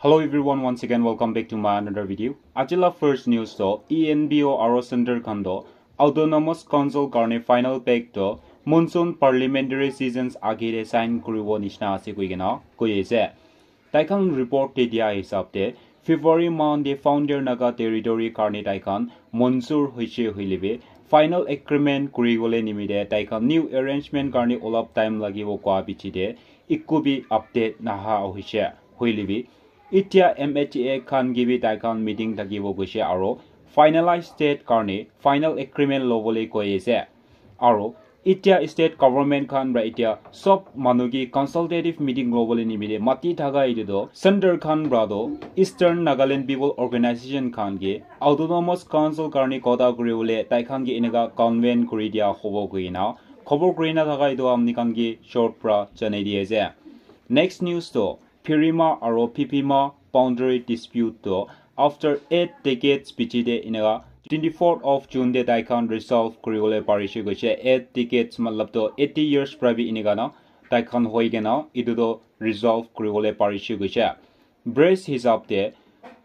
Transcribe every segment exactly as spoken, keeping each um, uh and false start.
Hello everyone, once again welcome back to my another video. Aji la first news to E N P O aro center khan to Autonomous Council karne final pact to monsoon parliamentary seasons age te sign kuribo nishina ase koi kena koi ase. Tai khan report te dia hisab te February month te founder Naga territory karne tai khan mansur hoise hoile bi final agreement kuri bole nimite tai khan new arrangement karne olop time lagibo koa piche te eku bi update naha hoise hoile bi Itya M H A khan ke bi tai khan meeting thakibo koise aro finalize state karne final agreement lobole koi ase. Aro itya state government khan pra itya sob manu ke consultative meeting lobole nimite mati thaka etu to center khan pra to Eastern Nagaland People Organization khan ke Autonomous Council karne kota kuri bole tai khan ke eneka convene kuri dia hobo koi na khobor kuri na thaka etu amni khan ke short pra janai di ase. Next news to Phirima aro Phipima boundary dispute to after eight decades piche te eneka twenty-fourth of June te tai khan resolve kuri bole parise koise. Eight decades matlab to eighty years pra bi eneka na tai khan hoi kena etu to resolve kuri bole parise koise. Press hisab te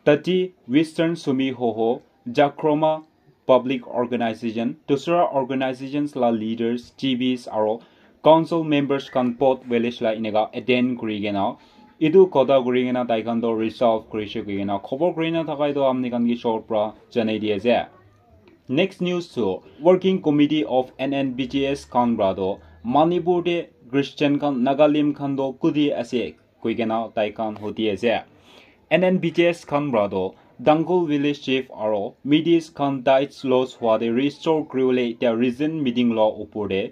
Tati Western Sumi Hoho Jakroma Public Organization, dusra organizations la leaders, G Bs aro council members khan both village la eneka attend kuri kena etu kotha kuri kena tai khan to resolve kurise koi kena khobor kuri na thaka etu amni khan ke short pra janai di ase. Next news to Working Committee of N N B G S khan pra to Manipur te Christian khan Nagalim khan to kuti ase koi kena tai khan hudi ase. N N B G S khan pra to Dangol village chief aro Midis khan tithes loss hwa te restore kuri bole itya recent meeting lo upor te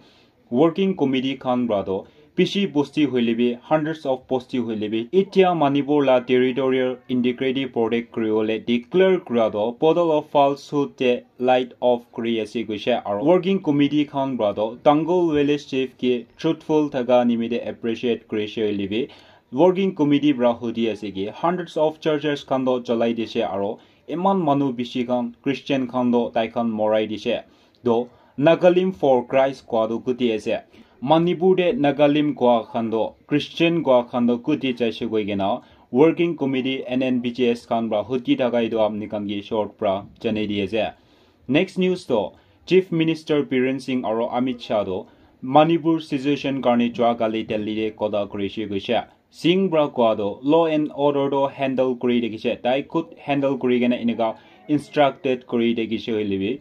working committee khan pra to bishi bosti hoile bi hundreds of bosti hoile bi itya Manipur la territorial integrity protect kuri bole declare kura to bottle of falsehood te light off kuri ase koise aro working committee khan pra to Dangol village chief ke truthful thaka nimite appreciate kurise hoile bi working committee pra hudi ase ki hundreds of churches khan to cholai dise aro eman manu bishi khan Christian khan to tai khan morai dise to Nagalim for Christ koa to kuti ase. Manipur te Nagalim koa khan to Christian koa khan to kuti jaise koi kena working committee N N B G S khan pra hudi thaka etu amni khan ke short pra janai di ase. Next news to Chief Minister Biren Singh aro Amit Shah to Manipur situation karne jua kali Delhi te kotha kurise koise. Singh pra koa to law and order to handle kuri thakise, tai khud handle kuri kena eneka instructed kuri thakise hoile bi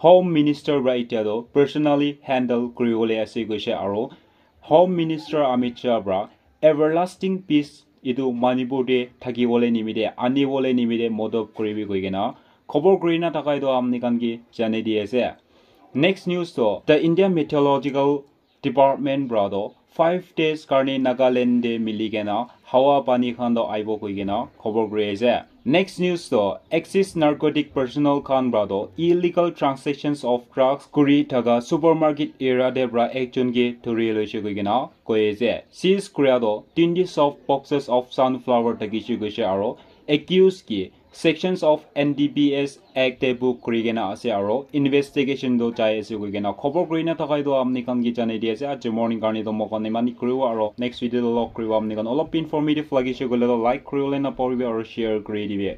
Home Minister pra itya to personally handle kuri bole ase koise aro Home Minister Amit Shah pra everlasting peace etu Manipur te thaki bole nimite ani bole nimite modop kuri bi koi kena khobor kuri na thaka etu amni khan ke janai di ase. Next news to the India Meteorological Department pra to five days karne Nagaland te mili kena hawa pani khan to aibo koi kena khobor kuri ase. Next news to Axis narcotic personnel khan pra to illegal transactions of drugs kuri thaka supermarket area te pra ekjon ke thuri loise koi kena koi ase. Seize kura to twenty soft boxes of sunflower thakise koise aro accused ke sections of N D P S Act te book kuri kena ase aro investigation to jai ase koi kena khobor kuri na thaka etu amni khan ke janai di ase. Aji morning karne to moi khan eman kuribo aro next video to log kuribo. Amni khan olop informative lagise koile to like kuri bole na pahori bi aro share kuri dibi.